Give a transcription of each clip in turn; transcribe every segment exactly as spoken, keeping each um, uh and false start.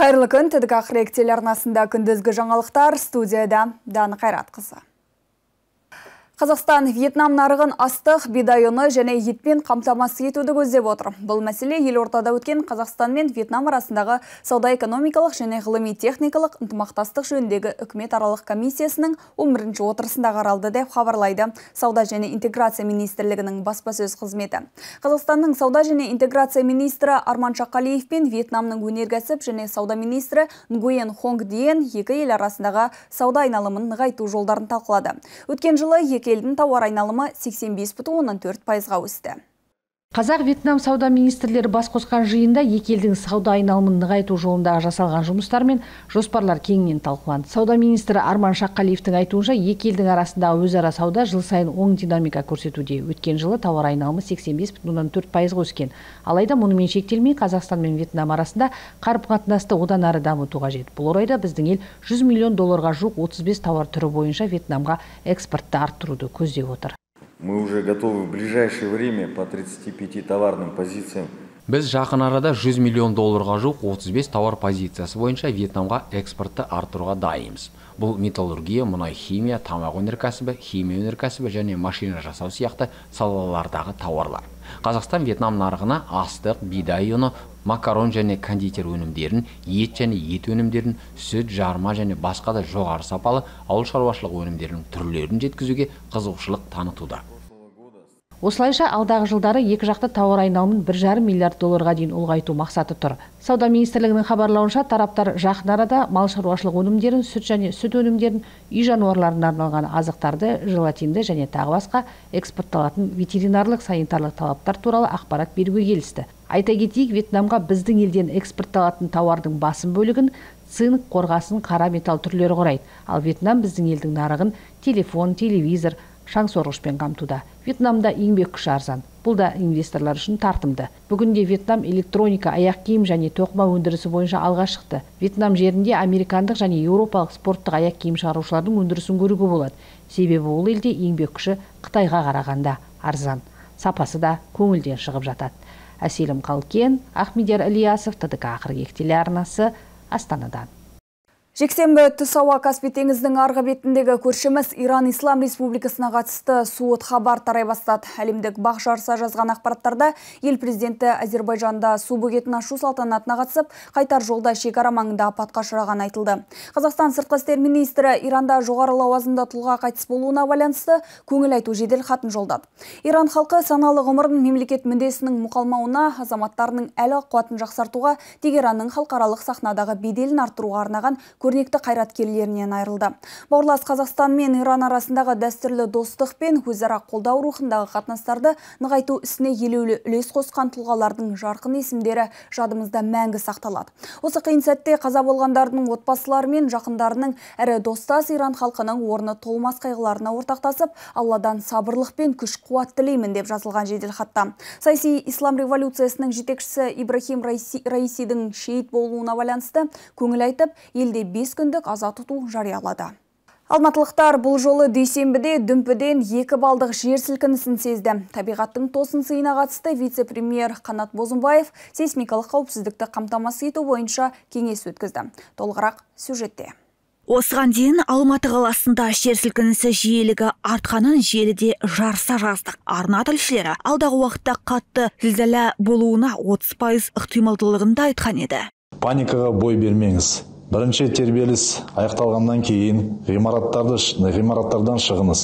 Қайырлы күн, Тедік Ақырек телеарнасында күндізгі жаңалықтар, студияда Даны Қайратқызы. Қазақстан Вьетнам нарығын астық, бидай ұны және етпен қамтамасыз етуді көздеп отыр. Бұл мәселе елордада өткен Қазақстан мен Вьетнам арасындағы сауда-экономикалық және ғылыми-техникалық ынтымақтастық жөніндегі үкіметаралық комиссиясының он бірінші отырысында қаралды деп хабарлайды Сауда және интеграция министрлігінің баспасөз қызметі. Қазақстанның сауда және интеграция министрі Арман Шақалиев пен Вьетнамның өнеркәсіп және сауда министрі Нгуен Хонг Диен екі ел арасындағы сауда айналымын нығайту жолдарын талқылады. Өткен жылы екі елдің тауар айналымы сексен бес бүтін оннан төрт пайызға өсті. Қазақ-Вьетнам сауда министрлері бас қосқан жиында екі елдің сауда айналымын нығайту жолындағы жасалған жұмыстар мен жоспарлар кеңінен талқыланды. Сауда министрі Арман Шақалиевтің айтуынша, екі елдің арасындағы өзара сауда жыл сайын оң динамика көрсетуде. Өткен жылы тауар айналымы сексен бес бүтін оннан төрт пайызға өскен. Алайда мұнымен шектелмей, Қазақстан мен Вьетнам арасында қарым-қатынасты одан ары дамыту қажет. Бұл орайда біздің ел жүз миллион долларға жуық отыз бес тауар түрі бойынша Вьетнамға экспортты арттыруды көздеп отыр. Мы уже готовы в ближайшее время по тридцати пяти товарным позициям. Біз жақын арада жүз миллион долларға жуық отыз бес тауар позициясы бойынша Вьетнамға экспортты арттыруға дайынбыз. Бұл металлургия, мұнай химия, тамақ өнеркәсібі, химия өнеркәсібі және машина жасау сияқты салалардағы тауарлар. Қазақстан Вьетнам нарығына астық, бидай ұны, макарон және кондитер өнімдерін, ет және ет өнімдерін, сүт, жарма және басқа да жоғары сапалы ауыл шаруашылық өнімдерінің түрлерін жеткізуге қызығушылық танытуда. Осылайша алдағы жылдары екі жақты тауар айналымын бір жарым миллиард долларға дейін ұлғайту мақсаты тұр. Сауда министрлігінің хабарлауынша, тараптар жақын арада мал шаруашылық өнімдерін, сүт және сүт өнімдерін, үй жануарларына арналған азықтарды, желатинді және тағы басқа экспортталатын ветеринарлық санитарлық талаптар туралы ақпарат беруге келісті. Айта кетейік, Вьетнамға біздің елден экспортталатын тауардың басым бөлігін цинк, қорғасын, қара металл түрлері құрайды. Ал Вьетнам біздің елдің нарығын телефон, телевизор, шаңсорғышпен қамтуда. Вьетнамда еңбек күші арзан. Бұл да инвесторлар үшін тартымды. Бүгінде Вьетнам электроника, аяқ киім және тоқыма өндірісі бойынша алға шықты. Вьетнам жерінде американдық және еуропалық спорттық аяқ киім шығарушылардың өндірісін көруге болады. Себебі ол елде еңбек күші Қытайға қарағанда арзан. Сапасы да көңілден шығып жатады. Әселім Қалкен, Ахмедияр Ильясов, Тедік Ақырек телеарнасы, Астанадан. Жексенбі түс ауа Каспий теңізінің арғы бетіндегі көршіміз Иран Ислам Республикасына қатысты суыт хабар тарай бастады. Әлемдік бақ жарыса жазған ақпараттарда ел президенті Әзербайжанда су бөгетін ашу салтанатына қатысып, қайтар жолда шекара маңында апатқа ұшыраған айтылды. Қазақстан сыртқы істер министрі Иранда жоғары лауазымды тұлға қайтыс болуына байланысты көңіл айту жедел хатын жолдады. Иран халқы саналы ғұмырын мемлекет мүддесінің мұқалмауына, азаматтарының әл қуатын жақсартуға, Тегеранның халықаралық сахнадағы беделін арттыруға арнаған көрнекті қайраткерлерінен айырылды. Бауырлас Қазақстан мен Иран арасындағы дәстүрлі достық пен өзара қолдау рухындағы қатынастарды нығайту ісіне елеулі үлес қосқан тұлғалардың жарқын есімдері жадымызда мәңгі сақталады. Осы қиын сәтте қаза болғандардың отбасылары мен жақындарының әрі достас Иран халқының орны толмас қайғыларына ортақтасып, Алладан сабырлық пен күш-қуат тілеймін деп жазылған жеделхатта. Саяси ислам революциясының жетекшісі Ибрахим Раисидің шейіт болуына байланысты көңіл айтып, елде бес күндік аза тұту жариялады. Алматылықтар бұл жолы дүйсенбіде дүмпіден екі балдық жер сілкінісін сезді. Табиғаттың тосын сыйына қатысты вице-премьер Қанат Бозымбаев сейсмикалық қауіпсіздікті қамтамасыз ету бойынша кеңес өткізді. Толығырақ сюжетте. Осыған дейін Алматы қаласында жер сілкінісі жиілігі артқанын желіде жарыса жаздық. Арна тілшілері алдағы уақытта қатты зілзала болуына отыз пайыз ықтималдылығын да айтқан еді. Паникаға бой бермеңіз. Бірінші тербеліс аяқталғаннан кейін ғимараттарды ғимараттардан шығыңыз.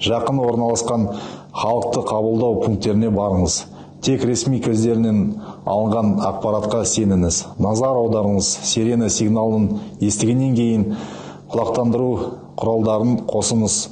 Жақын орналасқан халықты қабылдау пункттеріне барыңыз. Тек ресми көздерінен алынған ақпаратқа сеніңіз. Назар аударыңыз. Сирена сигналын естігеннен кейін құлақтандыру құралдарын қосыңыз.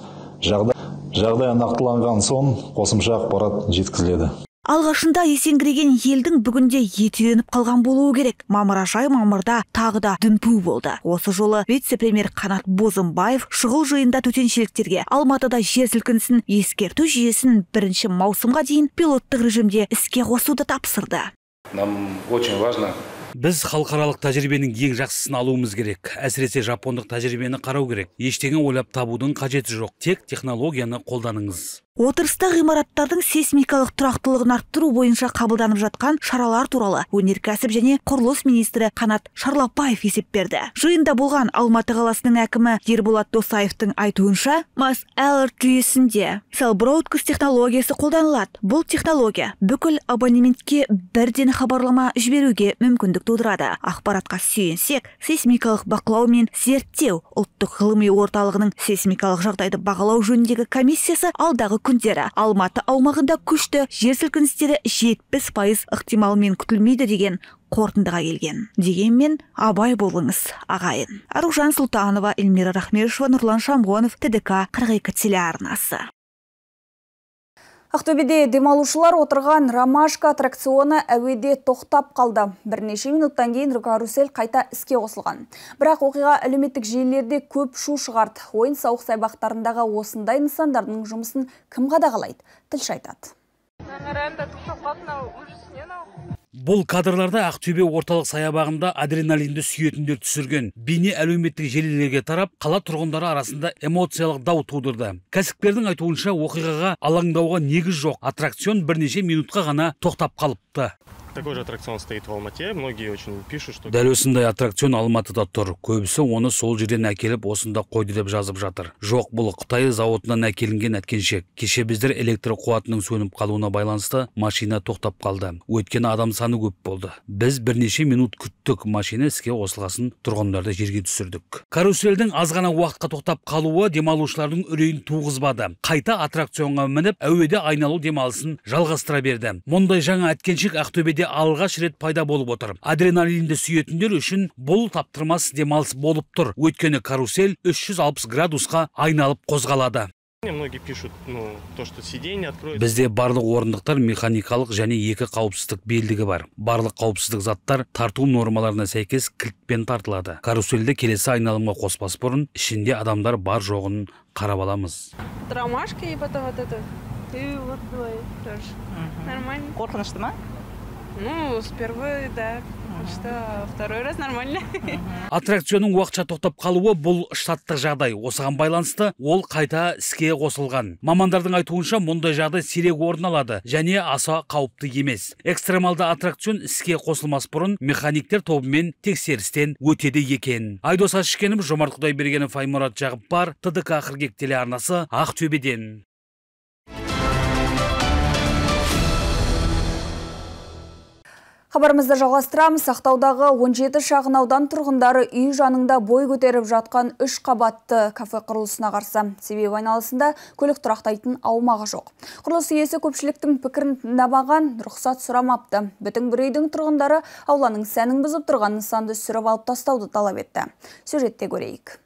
Жағдай, жағдай нақтыланған соң қосымша ақпарат жеткізіледі. Алғашында есеңгіреген елдің бүгінде етүйеніп қалған болуы керек. Мамыражай мамырда тағы да дүмпу болды. Осы жолы вице-премьер Қанат Бозымбаев шұғыл жиында төтеншеліктерге Алматыда жер сілкінісін ескерту жүйесін бірінші маусымға дейін пилоттық режимде іске қосуды тапсырды. Нам очень важно. Біз халықаралық тәжірибенің ең жақсысын алуымыз керек. Әсіресе жапондық тәжірибені қарау керек. Ештеңе ойлап табудың қажеті жоқ. Тек технологияны қолданыңыз. Отырыста ғимараттардың сейсмикалық тұрақтылығын арттыру бойынша қабылданып жатқан шаралар туралы өнеркәсіп және құрылыс министрі Қанат Шарлапаев есеп берді. Жиында болған Алматы қаласының әкімі Ерболат Досаевтың айтуынша, Мас-Алерт жүйесінде Cell Broadcast технологиясы қолданылады. Бұл технология бүкіл абонементке бірден хабарлама жіберуге мүмкіндік тудырады. Ақпаратқа сүйенсек, сейсмикалық бақылау мен зерттеу ұлттық ғылыми орталығының сейсмикалық жағдайды бағалау жөніндегі комиссиясы алдағы күндері Алматы аумағында күшті жер сілкіністері жетпіс пайыз ықтималмен күтілмейді деген қорытындыға келген. Дегенмен абай болыңыз, ағайын. Аружан Сұлтанова, Эльмира Рахмешева, Нұрлан Шамғонов, Т Д К қырық екі телеарнасы. Ақтөбеде демалушылар отырған ромашка аттракционы әуеде тоқтап қалды. Бірнеше минуттан кейін карусель қайта іске қосылған. Бірақ оқиға әлеуметтік желілерде көп шу шығарды. Ойын-сауық саябақтарындағы осындай нысандардың жұмысын кім қадағалайды? Тілші айтады. Бұл кадрларда Ақтөбе орталық саябағында адреналинді сүйетіндер түсірген. Бейне әлеуметтік желілерге тарап, қала тұрғындары арасында эмоциялық дау тудырды. Кәсіпкердің айтуынша оқиғаға алаңдауға негіз жоқ. Аттракцион бірнеше минутқа ғана тоқтап қалыпты. Такой же аттракцион стоит в Алмате. Многие очень пишут, что... Дәл осындай аттракцион Алматыда тұр. Көбісі оны сол жерден әкеліп, осында қойды деп жазып жатыр. Жоқ, бұл Қытай зауытынан әкелінген әткеншек. Кеше біздер электр қуатының сөніп қалуына байланысты машина тоқтап қалды. Өйткені адам саны көп болды. Біз бірнеше минут күттік, машина іске қосылғасын тұрғындарды жерге түсірдік. Карусельдің аз ғана уақытқа тоқтап қалуы демалушылардың үрейін туғызбады. Қайта аттракционға мініп, әуеде айналу демалысын жалғастыра берді. Мұндай жаңа әткеншек Ақтөбеде алғаш рет пайда болып отыр. Адреналинді сүйетіндер үшін бұл таптырмас демалыс болып тұр. Өйткені карусель үш жүз алпыс градусқа айналып қозғалады. Многие пишут, ну, то, что сиденье откроется. Бізде барлық орындықтар механикалық және екі қауіпсіздік белдігі бар. Барлық қауіпсіздік заттар тарту нормаларына сәйкес кілтпен тартылады. Карусельді келесі айналымға қоспас бұрын ішінде адамдар бар жоғын қарап аламыз. Ромашка и потом вот это. И вот твой тоже. Нормально. Қорқынышты ма? Ну, сперва, да, что второй раз нормально. Аттракционның уақытша тоқтап қалуы бұл штаттық жағдай. Осыған байланысты ол қайта іске қосылған. Мамандардың айтуынша мұндай жағдай сирек орын алады және аса қауіпті емес. Экстремалды аттракцион іске қосылмас бұрын механиктер тобымен тексерістен өтеді екен. Айдос Ашкенов, Жомарт Құдайбергенов, Аймұрат Жағыппар, Т Д К қырық екі телеарнасы, Ақтөбеден. Хабарымызды жалғастырамыз. Ақтаудағы он жеті шағын аудан тұрғындары үй жанында бой көтеріп жатқан үш қабатты кафе құрылысына қарсы. Себебі айналасында көлік тұрақтайтын аумағы жоқ. Құрылыс иесі көпшіліктің пікірін тыңдамаған, рұқсат сұрамапты. Бүтін бір үйдің тұрғындары ауланың сәнін бұзып тұрған нысанды сүріп алып тастауды талап етті. Сюжетте көрейік.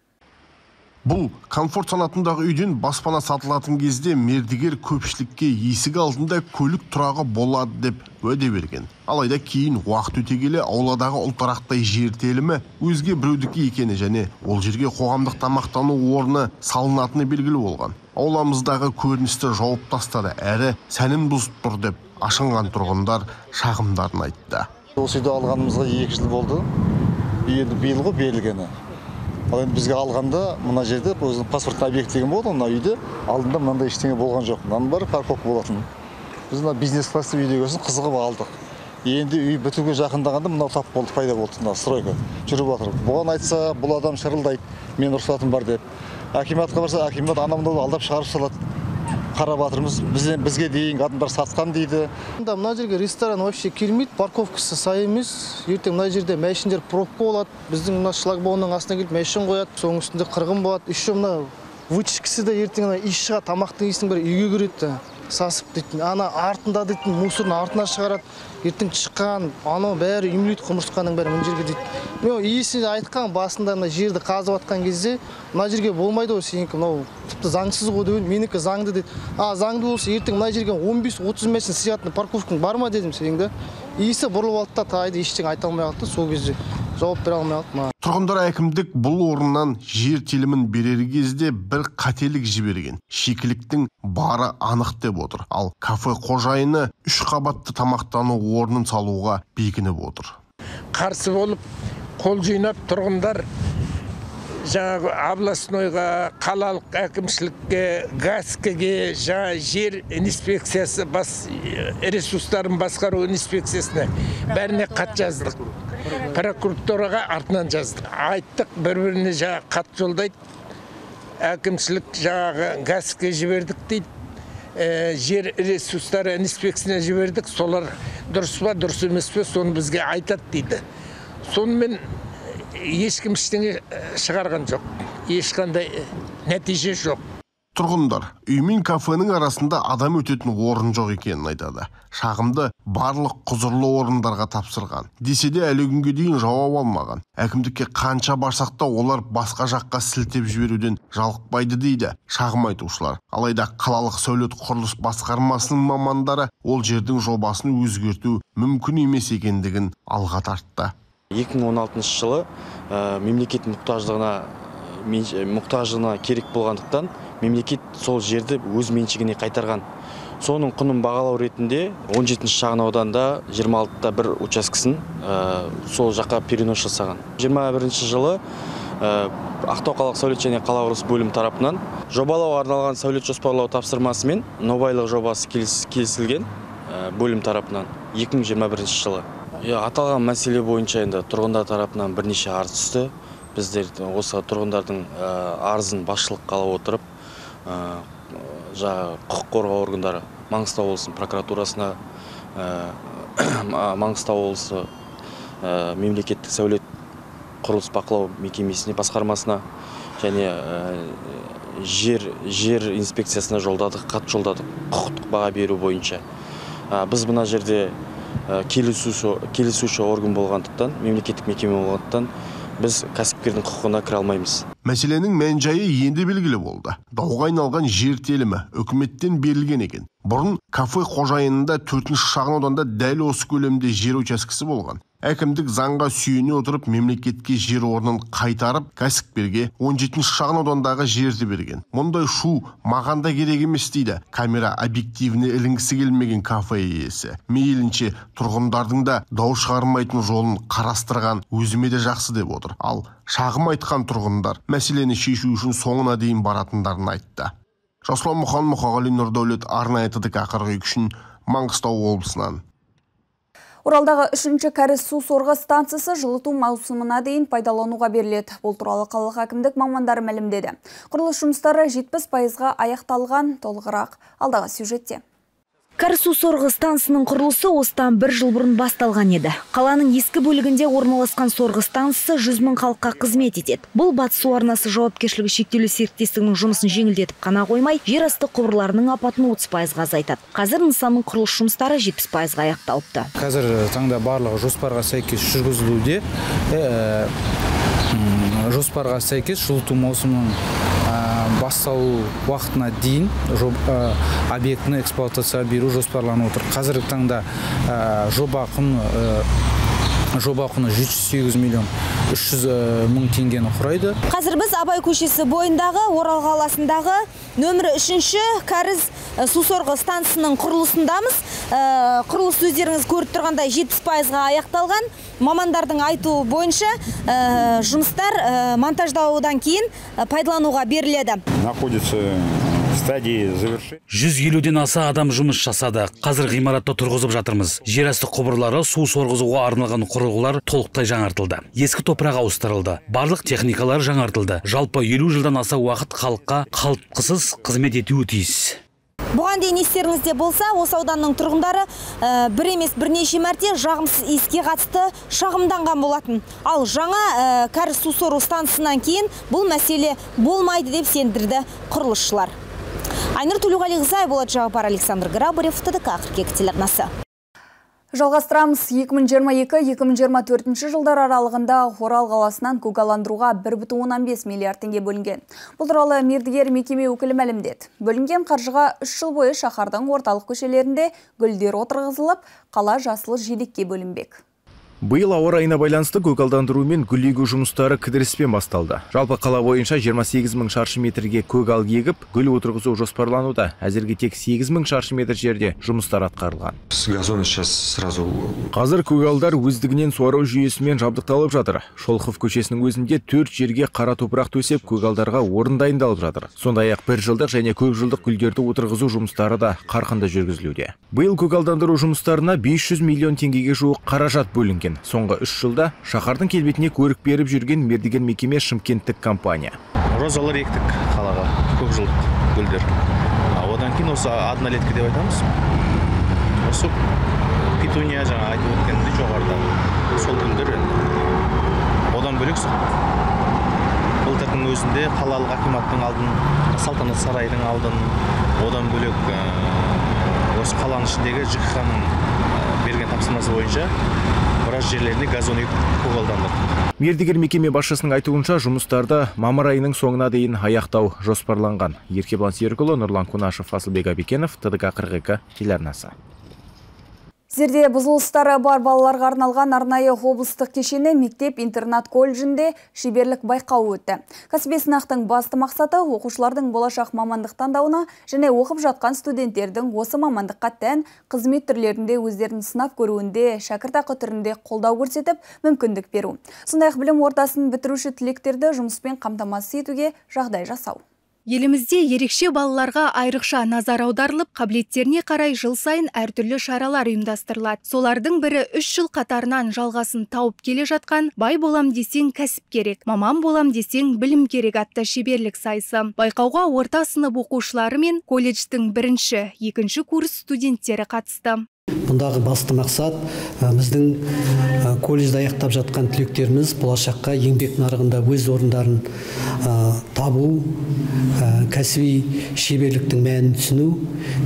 Бұл комфорт санатындағы үйден баспана сатылатын кезде мердігер көпшілікке есік алдында көлік тұрағы болады деп уәде берген. Алайда кейін уақыт өте келе ауладағы ұлтарақтай жер телімі өзге біреудікі екені және ол жерге қоғамдық тамақтану орны салынатыны белгілі болған. Ауламыздағы көріністі жауып тастады, әрі сәнін бұзып тұр деп ашынған тұрғындар шағымдарын айтты. Осы үйді алғанымызға екі жыл болды. Енді биыл ғой берілгені. Ал енді бізге алғанда мына жерде өзінің паспорт объект деген болды, мына үйде алдында мынандай ештеңе болған жоқ. Мынаның бәрі парковка болатын. Біз мына бизнес классы үйде көрсін қызығып алдық. Енді үй бітуге жақындағанда мынау тап болды, пайда болды, мына стройка жүріп жатыр. Бұған айтса, бұл адам шырылдайды, мен рұқсатым бар деп. Акиматқа барса, акимат анамды алдап шығарып салады. Қарап жатырмыз, бізге дейін адамдар сатқан дейді. Мына жерге ресторан вообще келмейді, парковкасы сай емес. Ертең мына жерде мәшіндер пробка болады. Біздің мына шлагбаумның астына келіп мәшін қояды, соның үстінде қырғын болады. Еще мына вытяжкасы да ертең иіс шығады, тамақтың иісінің бәрі үйге кіреді. Сасып дейтін, ана артында дейтін мусорын артына шығарады. Ертең шыққан, анау бәрі үймелейді, құмырсқаның бәрі мына жерге дейді. Мен иісі айтқан басында мына жерді қазып атқан кезде, мына жерге болмайды ғой сенікі, мынау тіпті заңсыз ғой деп, менікі заңды дейді. А заңды болса ертең мына жерге он бес отыз мәшін сиятын парковкаң бар ма дедім сенің да. Иісі бұрылып алды да тайды ештеңе айта алмай қалды, сол кезде жауап бере алмай қалды. Тұрғындар әкімдік бұл орыннан жер телімін берер кезде бір қателік жіберген. Шикіліктің бары анық деп отыр. Ал кафе қожайыны үш қабатты тамақтану орнын салуға бекініп отыр. Қарсы болып қол жинап тұрғындар жаңағы областнойға, қалалық әкімшілікке, ГАСКіге, жаңа жер инспекциясы, бас ресурстарын басқару инспекциясына бәріне қат жаздық. Прокуратураға артынан жаздық. Айттық, бір-біріне жаңа қат жолдайды. Әкімшілік жаңағы ГАСКіге жібердік дейді. Жер ресурстары инспекциясына жібердік. Солар дұрыс па, дұрыс емес пе, соны бізге айтады дейді. Сонымен ешкім ештеңе шығарған жоқ. Ешқандай нәтиже жоқ. Тұрғындар үй мен кафенің арасында адам өтетін орын жоқ екенін айтады. Шағымды барлық құзырлы орындарға тапсырған. Десе де әлі күнге дейін жауап алмаған. Әкімдікке қанша барсақ та олар басқа жаққа сілтеп жіберуден жалықпайды дейді шағым айтушылар. Алайда қалалық сәулет құрылыс басқармасының мамандары ол жердің жобасын өзгерту мүмкін емес екендігін алға тартты. екі мың он алтыншы жылы мемлекет мұқтаждығына мұқтаждығына керек болғандықтан мемлекет сол жерді өз меншігіне қайтарған. Соның құнын бағалау ретінде он жетінші шағын ауданда жиырма алтыда бір учаскесін сол жаққа перенос жасаған. жиырма бірінші жылы Ақтау қалалық сәулет және қала құрылысы бөлім тарапынан жобалауға арналған сәулет жоспарлау тапсырмасымен нобайлық жобасы келісілген бөлім тарапынан екі мың жиырма бірінші жылы. Аталған мәселе бойынша енді тұрғындар тарапынан бірнеше арыз түсті. Біздер осы тұрғындардың арызын басшылыққа ала отырып, жаңа құқық қорғау органдары Маңғыстау облысының прокуратурасына, Маңғыстау облысы мемлекеттік сәулет құрылыс бақылау мекемесіне, басқармасына және жер жер инспекциясына жолдадық, хат жолдадық құқықтық баға беру бойынша. Біз мына жерде келісуші орган болғандықтан, мемлекеттік мекеме болғандықтан біз кәсіпкердің құқығына кіре алмаймыз. Мәселенің мән-жайы енді белгілі болды. Дауға айналған жер телімі үкіметтен берілген екен. Бұрын кафе қожайынында төртінші шағын ауданда дәл осы көлемде жер учаскесі болған. Әкімдік заңға сүйене отырып мемлекетке жер орнын қайтарып, кәсіпкерге он жетінші шағын аудандағы жерді берген. Мұндай шу маған да керек емес дейді камера объективіне ілінгісі келмеген кафе иесі. Мейлінше тұрғындардың да дау шығармайтын жолын қарастырған өзіме де жақсы деп отыр. Ал шағым айтқан тұрғындар мәселені шешу үшін соңына дейін баратындарын айтты. Жасұлан Мұқан, Мұқағали Нұрдәулет, арнайы ТДК қырық екі үшін Маңғыстау облысынан. Оралдағы үшінші кәріз су сорғы станциясы жылыту маусымына дейін пайдалануға беріледі. Бұл туралы қалалық әкімдік мамандары мәлімдеді. Құрылыс жұмыстары жетпіс пайызға аяқталған. Толығырақ алдағы сюжетте. Кәріз су сорғы станциясының құрылысы осыдан бір жыл бұрын басталған еді. Қаланың ескі бөлігінде орналасқан сорғы станциясы жүз мың халыққа қызмет етеді. Бұл Батыс су арнасы жауапкершілігі шектеулі серіктестігінің жұмысын жеңілдетіп қана қоймай, жер асты құбырларының апатын отыз пайызға азайтады. Қазір нысанның құрылыс жұмыстары жетпіс пайызға аяқталыпты. Қазір таңда барлығы жоспарға сәйкес жүргізілуде. Жоспарға сәйкес жылыту маусымының басталу уақытына дейін объектіні эксплуатацияға беру жоспарланып отыр. Қазіргі таңда жоба құны жоба құны жүз сегіз миллион үш жүз мың теңгені құрайды. Қазір біз Абай көшесі бойындағы Орал қаласындағы нөмірі үшінші кәріз су сорғы станциясының құрылысындамыз. Құрылыс өздеріңіз көріп тұрғандай жетпіс пайызға аяқталған. Мамандардың айтуы бойынша жұмыстар монтаждаудан кейін пайдалануға беріледі. Находится стадии завершения. жүз елуден аса адам жұмыс жасады. Қазір ғимаратта тұрғызып жатырмыз. Жер асты құбырлары, су сорғызуға арналған құрылғылар толықтай жаңартылды. Ескі топырақ ауыстырылды. Барлық техникалар жаңартылды. Жалпы елу жылдан аса уақыт халыққа қалтқысыз қызмет етуі тиіс. Бұған дейін естеріңізде болса, осы ауданның тұрғындары бір емес бірнеше мәрте жағымсыз иіске қатысты шағымданған болатын. Ал жаңа кәріз су сору станциясынан кейін бұл мәселе болмайды деп сендірді құрылысшылар. Айнұр Төлеуғалиқызы, Болат Жағыпар, Александр Грабарев, ТДК қырық екі телеарнасы. Жалғастырамыз. екі мың жиырма екі - екі мың жиырма төртінші жылдар аралығында Орал қаласынан көгаландыруға бір бүтін оннан бес миллиард теңге бөлінген. Бұл туралы мердігер мекеме өкілі мәлімдеді. Бөлінген қаржыға үш жыл бойы шаһардың орталық көшелерінде гүлдер отырғызылып, қала жасыл желекке бөлінбек. Биыл ауа райына байланысты көгалдандыру мен гүл егу жұмыстары кідіріспен басталды. Жалпы қала бойынша жиырма сегіз мың шаршы метрге көгал егіп, гүл отырғызу жоспарлануда. Әзірге тек сегіз мың шаршы метр жерде жұмыстар атқарылған. Газоны сейчас сразу. Қазір көгалдар өздігінен суару жүйесімен жабдықталып жатыр. Шолхов көшесінің өзінде төрт жерге қара топырақ төсеп, көгалдарға орын дайындалып жатыр. Сондай-ақ бір жылдық және көп жылдық гүлдерді отырғызу жұмыстары да қарқынды жүргізілуде. Биыл көгалдандыру жұмыстарына бес жүз миллион теңгеге жуық қаражат бөлінген. Соңғы үш жылда шаһардың келбетіне көрік беріп жүрген мердігер мекеме шымкенттік компания. Розалар ектік қалаға, көп жылдық гүлдер. Одан кейін осы однолетка деп айтамыз. Осы петуния жаңа айтып өткенде жоғарыда сол гүлдер. Одан бөлек былтырдың өзінде қалалық акиматтың алдын, салтанат сарайдың алдын, одан бөлек осы қаланың ішіндегі ЖКХ-ның берген тапсырмасы бойынша біраз жерлеріне газон егіп көгалдандырдық. Мердігер мекеме басшысының айтуынша жұмыстарды мамыр айының соңына дейін аяқтау жоспарланған. Еркебұлан Серікұлы, Нұрлан Кунашев, Асылбек Абекенов, ТДК қырық екі телеарнасы. Зерде бұзылыстары бар балаларға арналған арнайы облыстық кешені мектеп-интернат колледжінде шеберлік байқауы өтті. Кәсіби сынақтың басты мақсаты оқушылардың болашақ мамандық таңдауына және оқып жатқан студенттердің осы мамандыққа тән қызмет түрлерінде өздерін сынап көруінде шәкіртақы түрінде қолдау көрсетіп, мүмкіндік беру. Сондай-ақ білім ордасын бітіруші түлектерді жұмыспен қамтамасыз етуге жағдай жасау. Елімізде ерекше балаларға айрықша назар аударылып, қабілеттеріне қарай жыл сайын әртүрлі шаралар ұйымдастырылады. Солардың бірі үш жыл қатарынан жалғасын тауып келе жатқан бай болам десең кәсіп керек, маман болам десең білім керек атты шеберлік сайысы. Байқауға орта сынып оқушылары мен колледждің бірінші, екінші курс студенттері қатысты. Мұндағы басты мақсат біздің колледжді аяқтап жатқан түлектеріміз болашаққа еңбек нарығында өз орындарын табу, кәсіби шеберліктің мәнін түсіну.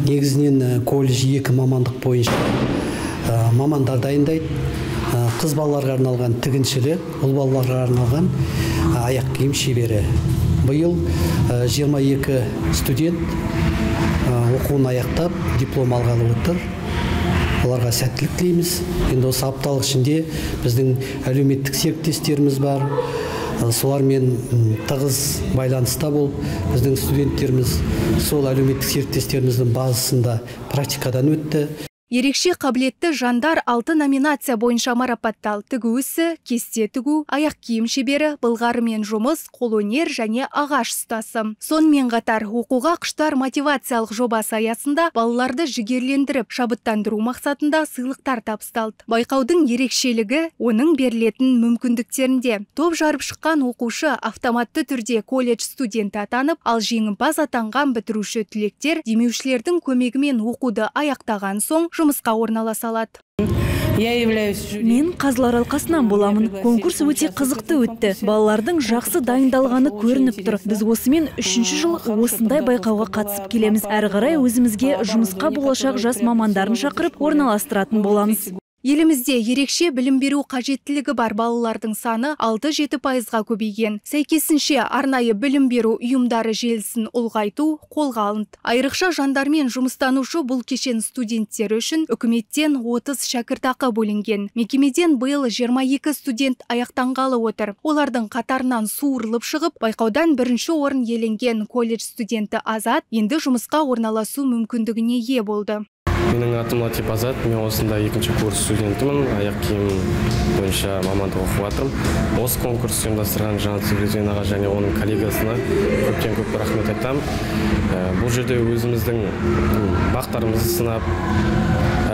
Негізінен колледж екі мамандық бойынша мамандар дайындайды. Қыз балаларға арналған тігіншілі, ұл балаларға арналған аяқ киім шебері. Биыл жиырма екі студент оқуын аяқтап диплом алғалы отыр. Оларға сәттілік тілейміз. Енді осы апталық ішінде біздің әлеуметтік серіктестеріміз бар. Солармен тығыз байланыста болып, біздің студенттеріміз сол әлеуметтік серіктестеріміздің базасында практикадан өтті. Ерекше қабілетті жандар алты номинация бойынша марапатталды. Тігу ісі, кесте тігу, аяқ киім шебері, былғарымен жұмыс, қолөнер және ағаш ұстасы. Сонымен қатар оқуға құштар мотивациялық жобасы аясында балаларды жігерлендіріп, шабыттандыру мақсатында сыйлықтар табысталды. Байқаудың ерекшелігі оның берілетін мүмкіндіктерінде. Топ жарып шыққан оқушы автоматты түрде колледж студенті атанып, ал жеңімпаз атанған бітіруші түлектер демеушілердің көмегімен оқуды аяқтаған соң жұмысқа орналаса алады. Мен қазылар алқасынан боламын. Конкурс өте қызықты өтті. Балалардың жақсы дайындалғаны көрініп тұр. Біз осымен үшінші жыл осындай байқауға қатысып келеміз. Әрі қарай өзімізге жұмысқа болашақ жас мамандарын шақырып орналастыратын боламыз. Елімізде ерекше білім беру қажеттілігі бар балалардың саны алты-жеті пайызға көбейген. Сәйкесінше арнайы білім беру ұйымдары желісін ұлғайту қолға алынды. Айрықша жандармен жұмыстанушы бұл кешен студенттері үшін үкіметтен отыз шәкіртақы бөлінген. Мекемеден биыл жиырма екі студент аяқтанғалы отыр. Олардың қатарынан суырылып шығып, байқаудан бірінші орын иеленген колледж студенті Азат енді жұмысқа орналасу мүмкіндігіне ие болды. Менің атым Латип Азат, мен осында екінші курс студентімін, аяқ киім бойынша мамандық оқып жатырмын. Осы конкурс ұйымдастырған Жанат Сүлейменоваға және оның коллегасына көптен көп рахмет айтамын. Бұл жерде өзіміздің бақтарымызды сынап,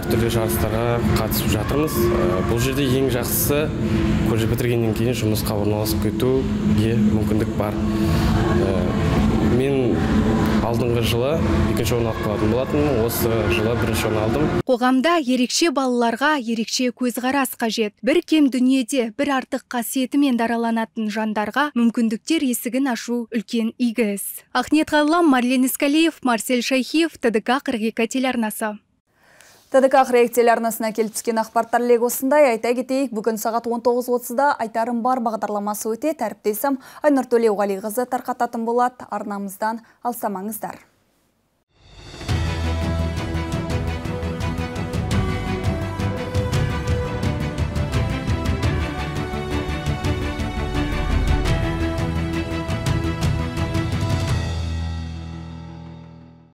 әртүрлі жарыстарға қатысып жатырмыз. Бұл жерде ең жақсысы колледж бітіргеннен кейін жұмысқа орналасып кетуге мүмкіндік бар. Мен алдыңғы жылы екінші орын алып қалатын болатынмын, осы жылы бірінші орын алдым. Қоғамда ерекше балаларға ерекше көзқарас қажет. Бір кем дүниеде бір артық қасиетімен дараланатын жандарға мүмкіндіктер есігін ашу үлкен игі іс. Ахнет Ғаллам, Марлен Искалиев, Марсель Шайхиев, ТДК қырық екі телеарнасы. ТДК қырық екі телеарнасына келіп түскен ақпараттар легі осындай. Айта кетейік, бүгін сағат он тоғыз отызда айтарым бар бағдарламасы өтеді. Әріптесім Айнұр Төлеуғалиқызы тарқататын болады. Арнамыздан алсамаңыздар.